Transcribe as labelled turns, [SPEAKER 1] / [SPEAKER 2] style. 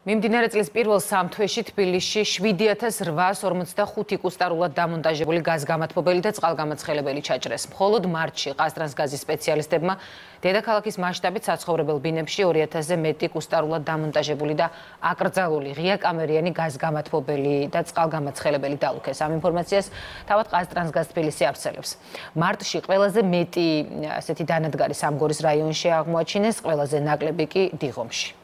[SPEAKER 1] მიმდინარე წლის პირველ სამ თვეში თბილისში 7845 კუსტარულად დამონტაჟებული გაზგამათბობელი და წყალგამაცხელებელი ჩაჭრეს. მხოლოდ მარტში ყაზტრანსგაზის სპეციალისტებმა დედაქალაქის მასშტაბით საცხოვრებელ ბინებში 2000-ზე მეტი კუსტარულად დამონტაჟებული და აკრძალული ღიაკამერიანი გაზგამათბობელი და წყალგამაცხელებელი დალუქეს. ამ ინფორმაციას თავად ყაზტრანსგაზ თბილისი აფსელებს. მარტში ყველაზე მეტი ასეთი დანადგარი სამგორის რაიონში აღმოაჩინეს, ყველაზე ნაკლები კი დიღომში.